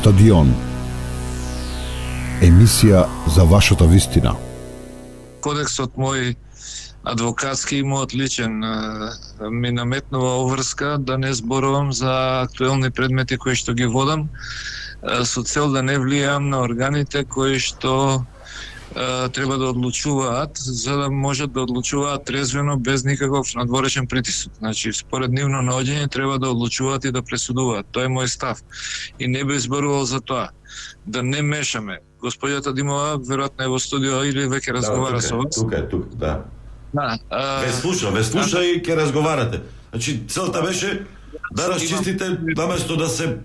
Стадион. Емисија за вашата вистина. Кодексот мој адвокатски и мојот личен ми наметнува обврска да не зборувам за актуелни предмети кои што ги водам со цел да не влијам на органите кои што треба да одлучуваат, за да можат да одлучуваат трезвено без никаков надворешен притисок. Значи, според нивно наоѓање треба да одлучуваат и да пресудуваат. Тоа е мој став. И не би зборувал за тоа. Да не мешаме. Господјата Димова веројатно е во студио или веќе разговара со вас. Тук, да. Ве слуша и ќе разговарате. Значи, целта беше да расчистите, наместо да се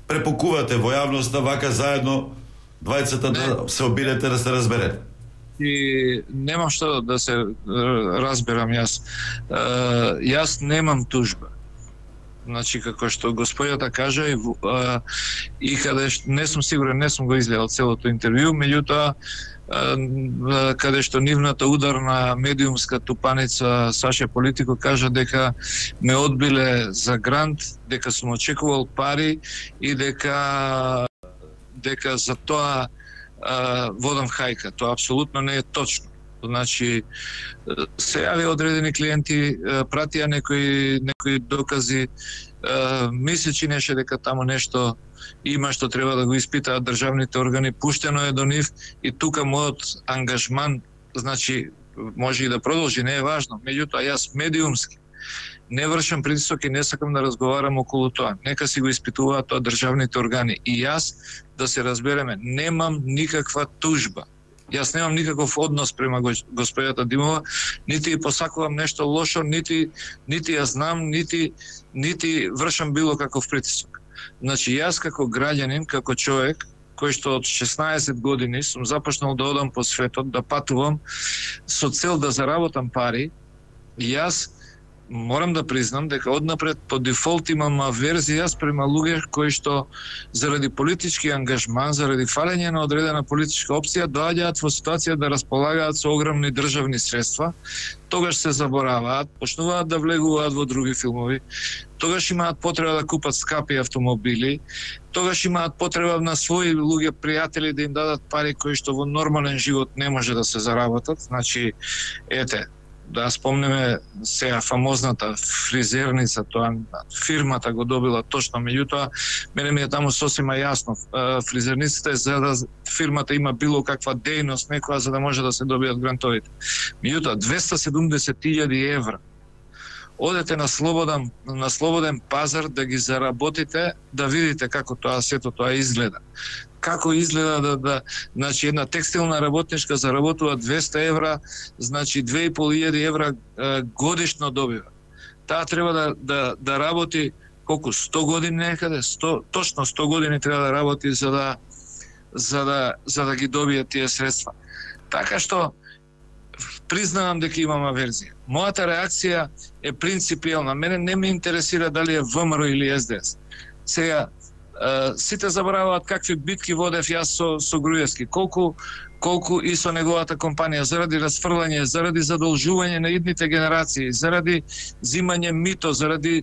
препокувате во јавноста, вака заедно двајцата да се обидете, да се разберете. И немам што да се разберам јас. Јас немам тужба. Значи, како што господјата кажа и каде не сум сигурен, не сум го изгледал целото интервју, меѓутоа каде што нивната ударна медиумска тупаница Саша Политико кажа дека ме одбиле за грант, дека сум очекувал пари и дека за тоа водам хајка. Тоа апсолутно не е точно. Значи, се јави одредени клиенти, пратија некои докази, ми се чинеше дека таму нешто има што треба да го испитаат државните органи, пуштено е до нив и тука мојот ангажман, значи, може и да продолжи, не е важно, меѓутоа јас медиумски не вршам притисок и не сакам да разговарам околу тоа. Нека си го испитуваат тоа државните органи. И јас, да се разбереме, немам никаква тужба. Јас немам никаков однос према господјата Димова, нити посакувам нешто лошо, нити ја знам, нити вршам било каков притисок. Значи, јас како граѓанин, како човек, кој што од 16 години сум започнал да одам по светот, да патувам со цел да заработам пари, јас морам да признам дека однапред по дефолт имам аверзија спрема луѓе кои што заради политички ангажман, заради фалење на одредена политичка опција доаѓаат во ситуација да располагаат со огромни државни средства, тогаш се забораваат, почнуваат да влегуваат во други филмови, тогаш имаат потреба да купат скапи автомобили, тогаш имаат потреба на своји луѓе пријатели да им дадат пари кои што во нормален живот не може да се заработат. Значи, ете, да спомнеме сега фамозната фризерница, тоа фирмата го добила точно, меѓутоа мене ми е таму сосема јасно. Фризерницата е за да фирмата има било каква дејност некоја за да може да се добијат грантовите. Меѓутоа 270.000 евра. Одете на слободен пазар да ги заработите, да видите како тоа сето тоа изгледа. Како изгледа значи една текстилна работничка заработува 200 евра, значи 2.500 евра годишно добива. Таа треба да работи колку 100 години некаде, точно 100 години треба да работи за да ги добие тие средства. Така што признавам дека имам аверзија. Мојата реакција е принципиелна. Мене не ме интересира дали е ВМРО или СДС. Сега сите забораваат какви битки водев јас со Груевски, колку и со неговата компанија заради расфрлање, заради задолжување на идните генерации, заради зимање мито, заради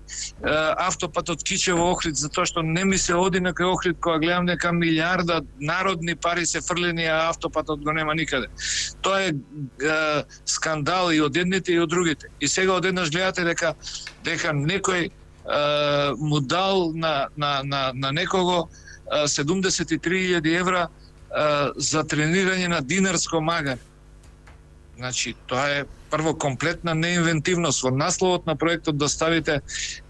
автопатот Кичево Охрид, затоа што не ми се оди на кај Охрид кога гледам дека милиарда народни пари се фрлени, а автопатот го нема никаде. Тоа е скандал и од едните и од другите. И сега одеднаш гледате дека некој му дал на некого 73.000 евра за тренирање на динарско магаре. Значи, тоа е прво комплетна неинвентивност. Во насловот на проектот да ставите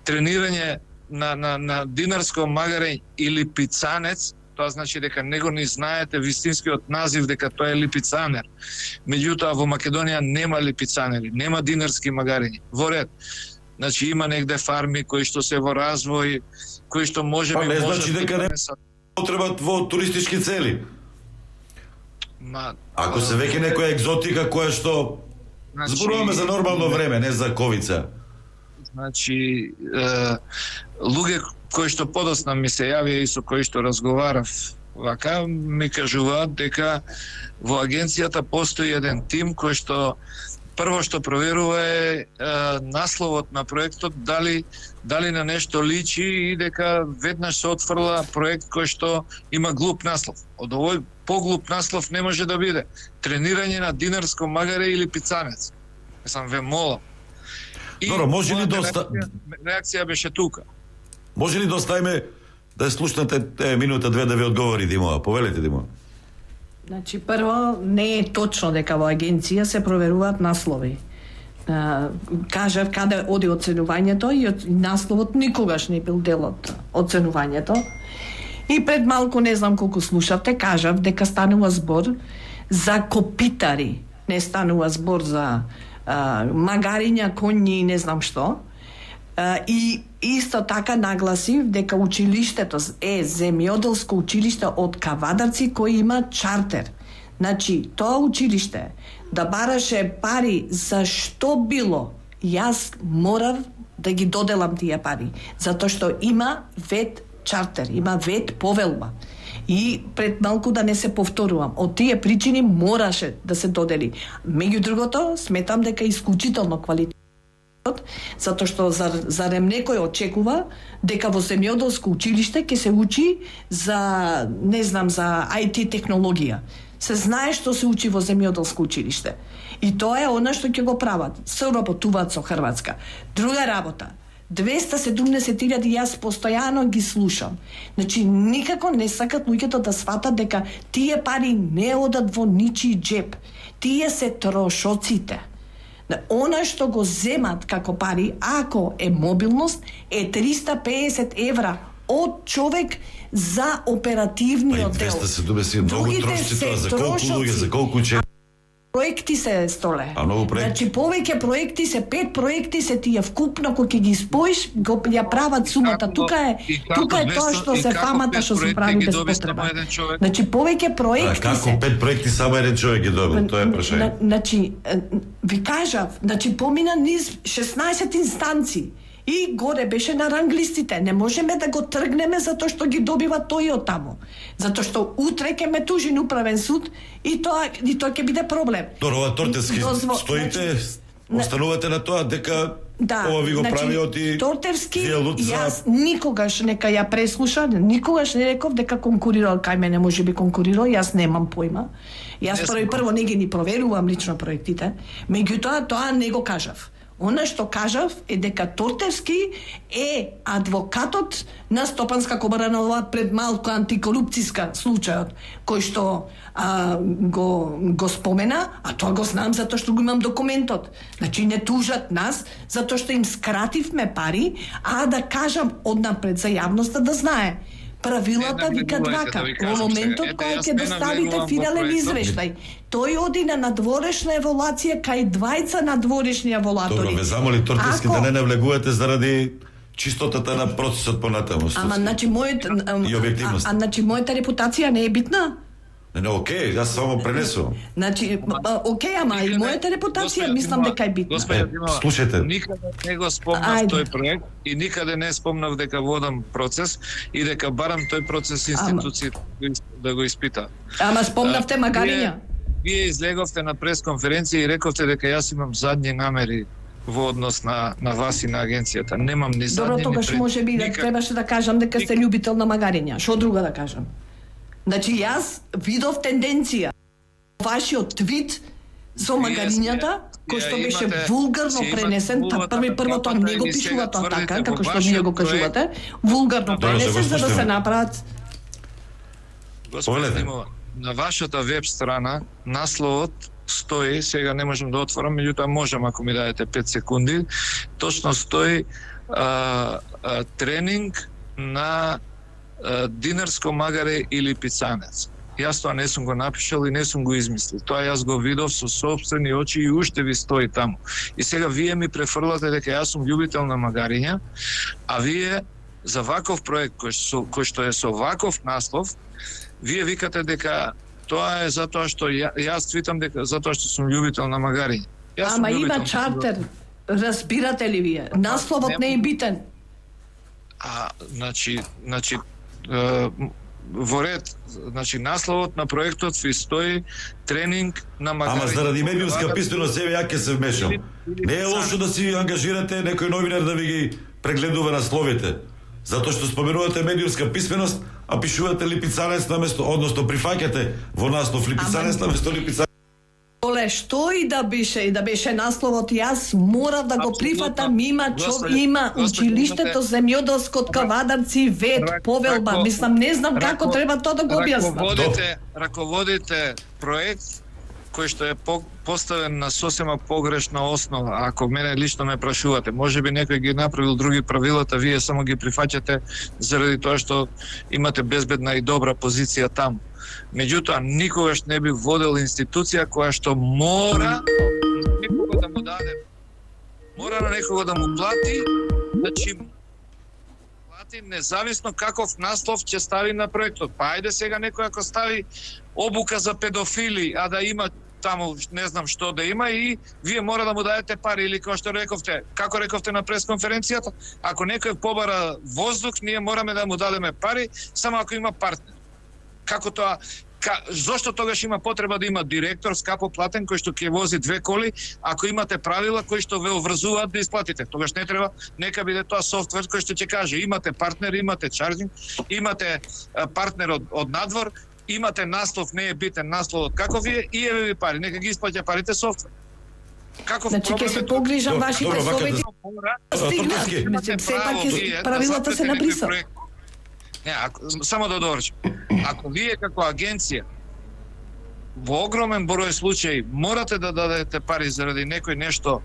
тренирање на динарско магаре или пицанец, тоа значи дека него не знаете вистинскиот назив дека тоа е липицанер. Меѓутоа во Македонија нема липицанери, нема динарски магарења. Во ред. Значи има негде фарми кои што се во развој, кои што може би не значи дека не потребат во туристички цели. Ако се веќе некоја екзотика која што зборуваме за нормално време, не за ковица. Значи луѓе кои што подосна ми се јавија и со кои што разговарав вака ми кажуваат дека во агенцијата постои еден тим кој што прво што проверува е насловот на проектот, дали на нешто личи и дека веднаш се отфрла проект кој што има глуп наслов. Од овој поглуп наслов не може да биде тренирање на динарско магаре или пицанец. Сам ве молам. Добро, може ли реакција беше тука. Може ли да оставиме да слушнете минута две да ви одговори Димова? Повелете, Димова. Значи, прво, не е точно дека во агенција се проверуваат наслови. Кажав каде оди оценувањето и насловот никогаш не бил дел од оценувањето. И пред малку, не знам колку слушавте, кажав дека станува збор за копитари. Не станува збор за магариња, коњи и не знам што. И исто така нагласив дека училиштето е земјоделско училиште од Кавадарци кој има чартер. Значи, тоа училиште да бараше пари за што било, јас морав да ги доделам тие пари, затоа што има вет чартер, има вет повелба. И пред малку да не се повторувам, од тие причини мораше да се додели. Меѓу другото, сметам дека е исклучително квалитет, затоа што зарем некој очекува дека во земјоделско училиште ќе се учи за, не знам, за IT технологија. Се знае што се учи во земјоделско училиште. И тоа е она што ќе го прават. Се работуваат со Хрватска. Друга работа. 270.000 јас постојано ги слушам. Значи, никако не сакат луѓето да сватат дека тие пари не одат во ничи джеб. Тие се трошоците. Она што го земат како пари, ако е мобилност, е 350 евра од човек за оперативниот дел. 270 многу трошци, за колку луѓе, за колку проекти се, Столе. А многу проекти. Значи повеќе проекти се, 5 проекти се тие вкупно кои ќе ги споиш, го ја прават сумата. Тука е тоа што се фамата што се прави без потреба. Значи повеќе проекти како 5 проекти само еден човек ги добил, тоа е прашање. Значи ви кажав, значи помина низ 16 инстанции. И горе беше на ранглистите. Не можеме да го тргнеме затоа што ги добива тој од таму. Затоа што утре ќе ме тужи на управен суд и тоа ќе биде проблем. Ова Тортевски стоите, останувате на тоа дека ова ви го правиот и Тортевски, јас никогаш нека ја преслуша, никогаш не реков дека конкурирал кај мене, можеби конкурирал, јас немам појма. Јас прво не ги ни проверувам лично проектите, меѓутоа тоа не го кажав. Она што кажав е дека Тортевски е адвокатот на Стопанска комора на ова пред малку антикорупцијска случајот, кој што го спомена, а тоа го знам затоа што го имам документот. Значи не тужат нас затоа што им скративме пари, а да кажам однапред за јавноста да знае. Правилата викат вака. Во моментот кој ќе доставите финален извештај, тој оди на надворешна еволација кај двајца надворешни еволатори. Добро, ве замоли Тортевски да не навлегувате заради чистотата на процесот понатаму. Ама значи значи мојата репутација не е битна? Не, окей, јас само пренесувам. Значи, окей, ама и мојата репутација мислам дека е битна. Слушајте. Никаде не го спомнав тој проект и никаде не спомнав дека водам процес и дека барам тој процес институцијата да го испита. Ама спомнавте магариња. Вие излеговте на пресконференција и рековте дека јас имам задни намери во однос на вас и на агенцијата. Немам ни задни. Добро, тогаш може би да требаше да кажам дека сте љубител на магариња. Што друго да кажам? Значи, јас видов тенденција. Вашиот твит со магарињата, кој што беше вулгарно пренесен, прво тоа не го пишува тоа така, како што вие го кажувате, вулгарно пренесен за да се направат. Господи Димова, на вашата веб страна насловот стои, сега не можам да отворам, меѓутоа можам ако ми дадете 5 секунди, точно стои тренинг на динарско магаре или пицанец. Јас тоа не сум го напишал и не сум го измислил. Тоа јас го видов со сопствени очи и уште ви стои таму. И сега вие ми префрлате дека јас сум љубител на магариња, а вие за ваков проект кој што е со ваков наслов, вие викате дека тоа е затоа што јас твитам дека затоа што сум љубител на магариња. Ама има чартер, разбирате ли вие? Насловот не е битен. Значи во ред, значи насловот на проектот ви стои тренинг на магарење. Ама заради медиумска писменост себе ја ќе се вмешам. Не е лошо да си ангажирате некој новинар да ви ги прегледува насловите. Затоа што споменувате медиумска писменост, а пишувате липицанец наместо, односно прифаќате во наслов липицанец наместо липицанец. Оле, што и да беше насловот, јас морав да го прифатам, има училиштето земјоделско Кавадарци вет, повелба, мислам, не знам како треба тоа да го објаснам. Раководите проект кој што е поставен на сосема погрешна основа. Ако мене лично ме прашувате, можеби некој ги направил други правилата, вие само ги прифаќате заради тоа што имате безбедна и добра позиција таму. Меѓутоа, никогаш не би водел институција која што мора некого да му даде, мора на некого да му плати, значи плати независно каков наслов ќе стави на проектот. Па ајде сега некој ако стави обука за педофили, а да има таму не знам што да има и вие мора да му дадете пари или како што рековте, како рековте на пресконференцијата, ако некој побара воздух, ние мораме да му дадеме пари само ако има партнер. Како тоа? Зошто тогаш има потреба да има директор скапо платен кој што ќе вози 2 коли, ако имате правила кои што ве обврзуваат да исплатите? Тогаш не треба, нека биде тоа софтвер кој што ќе каже имате партнер, имате чарджинг, имате партнер од надвор, имате наслов, не е битен насловот како вие и еве ви пари, нека ги исплаќа парите софтвер. Каков значи ќе се погрижам вашите совети. Сепак правилата се написани. Не, само да довршам. Ако вие како агенција во огромен број случаи морате да дадете пари заради некој нешто,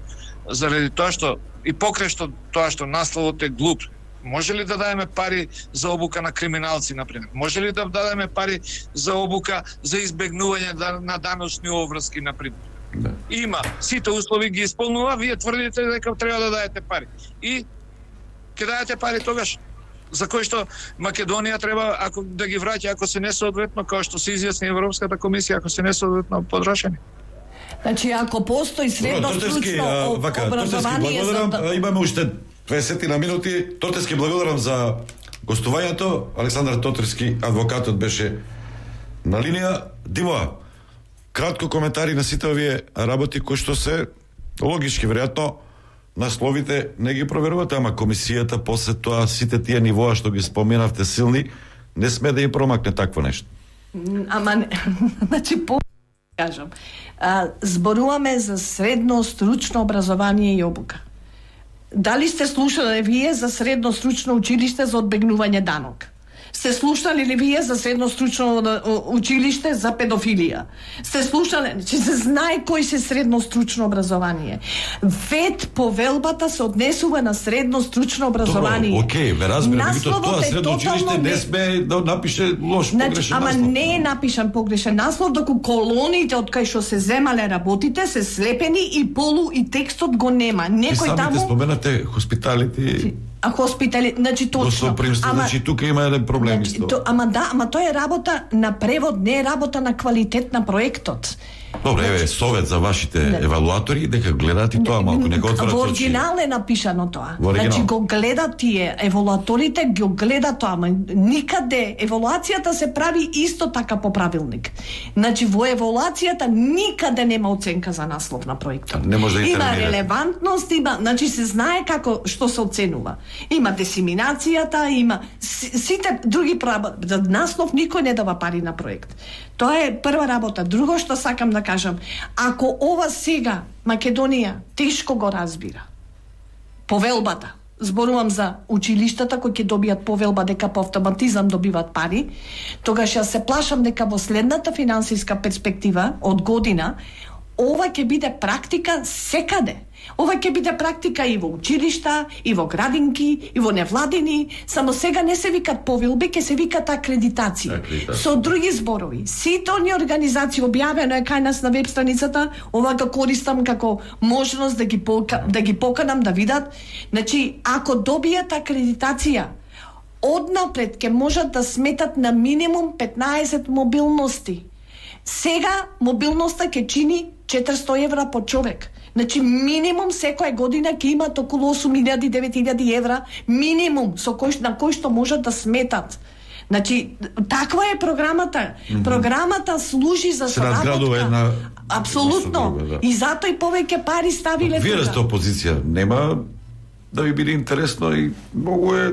заради тоа што и покрај што тоа што насловот е глуп, може ли да дадеме пари за обука на криминалци, например? Може ли да дадеме пари за обука за избегнување на даночни обврски, например? Да. Има, сите услови ги исполнува, вие тврдите дека треба да дадете пари. И ќе дадете пари тогаш за кој што Македонија треба ако да ги враќа ако се несоодветно, како што се изјасни Европската комисија, ако се несоодветно потрошени. Значи ако постои средно стручно образование за... Имаме уште 20 на минути. Тотески благодарам за гостувањето. Александар Тотерски, адвокатот, беше на линија. Димо, кратко коментари на сите овие работи кои што се логички, веројатно насловите не ги проверувате, ама комисијата после тоа сите тие нивоа што ги споменавте силни, не сме да им промакне такво нешто. Ама, значи, кажам, зборуваме за средно стручно образование и обука. Дали сте слушали вие за средно стручно училиште за одбегнување данок? Сте слушали ли вие за средно стручно училиште за педофилија? Сте слушали, че се знае кој се средно стручно образование. Вет повелбата се однесува на средно стручно образование. Добро, окей, ве разбирам, тоа средно училиште не сме да напише лош, погрешен наслов. Ама не е напишан погрешен наслов, доку колоните од кај што се земале работите се слепени и полу и текстот го нема. Некој таму... Самите споменате хоспиталити... А хоспитали, значи точно. Значи тука има еден проблем исто. Ама тоа е работа на превод, не е работа на квалитет на проектот. Добре, еве совет за вашите евалуатори дека гледат и тоа малку, не го отворат очи. Во оригинал е напишано тоа. Значи го гледат тие евалуаторите, го гледат тоа, ама никаде евалуацијата се прави исто така по правилник. Значи во евалуацијата никаде нема оценка за наслов на проектот. Не може да има релевантност, има, значи се знае како што се оценува. Има дисеминацијата, има сите други за наслов никој не дава пари на проект. Тоа е прва работа. Друго што сакам да кажам, ако ова сега Македонија тешко го разбира повелбата, зборувам за училиштата кои ќе добијат повелба дека по автоматизам добиват пари, тогаш јас се плашам дека во следната финансиска перспектива од година ова ќе биде практика секаде. Ова ќе биде практика и во училишта, и во градинки, и во невладини, само сега не се викат повелби, ќе се викат акредитации. Со други зборови, сите оние организации, објавено е кај нас на веб страницата, ова го користам како можност да ги поканам да видат. Значи, ако добијат акредитација, однапред ќе можат да сметат на минимум 15 мобилности. Сега мобилноста ќе чини 400 евра по човек. Значи минимум секоја година ќе имат околу 8.000-9.000 евра минимум на кој што можат да сметат. Значи, таква е програмата. Програмата служи за соработка. Апсолутно. И затоа и повеќе пари ставиле тука. Вие сте опозиција, нема да ви биде интересно и многу е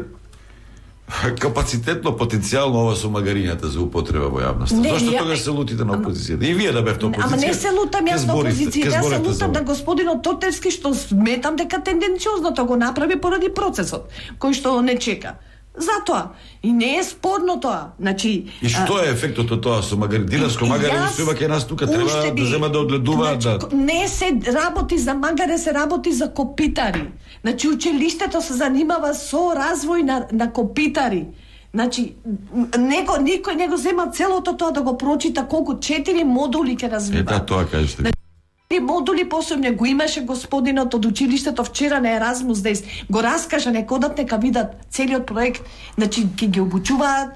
капацитетно, потенцијално ова со магарињата за употреба во јавноста. Зошто тогаш се лутите на опозицијата? И вие да бевте опозиција. Ама не се лутам јас на опозиција, јас се лутам на господинот Тотевски што сметам дека тенденциозно тоа го направи поради процесот кој што не чека. Затоа. И не е спорно тоа. Значи, и што е ефектот од тоа со Динарско магаре усвојува ке нас тука треба да зема да одледува, значи, не се работи за магаре, се работи за копитари. Значи училиштето се занимава со развој на копитари. Значи никој не го зема целото тоа да го прочита колку 4 модули ќе развива. Да, тоа кажете. Модули посебно го имаше господинот од училиштето вчера на Еразмус Дейс. Го раскажа, нека одат, нека видат целиот проект. Значи, ќе ги обучуваат,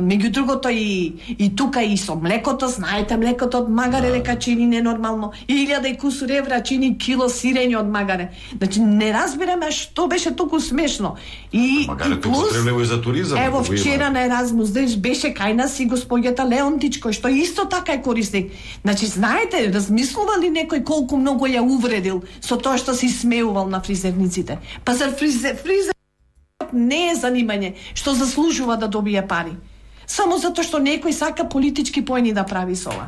меѓу другото и тука и со млекото, знаете, млекото од магаре дека чини ненормално. 1000 и кусур евра чини кило сирење од магаре. Значи, не разбираме што беше толку смешно. И плюс, и за туризам. Ево, вчера на Еразмус Дейс беше кај нас и господјата Леонтич, кој што исто така е корисник. Значи, знаете, размислували некој колку многу ја увредил со тоа што се смеувал на фризерниците. Па за фризер не е занимање што заслужува да добие пари. Само затоа што некој сака политички поени да прави со ова.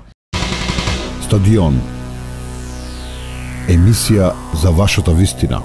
Стадион. Емисија за вашата вистина.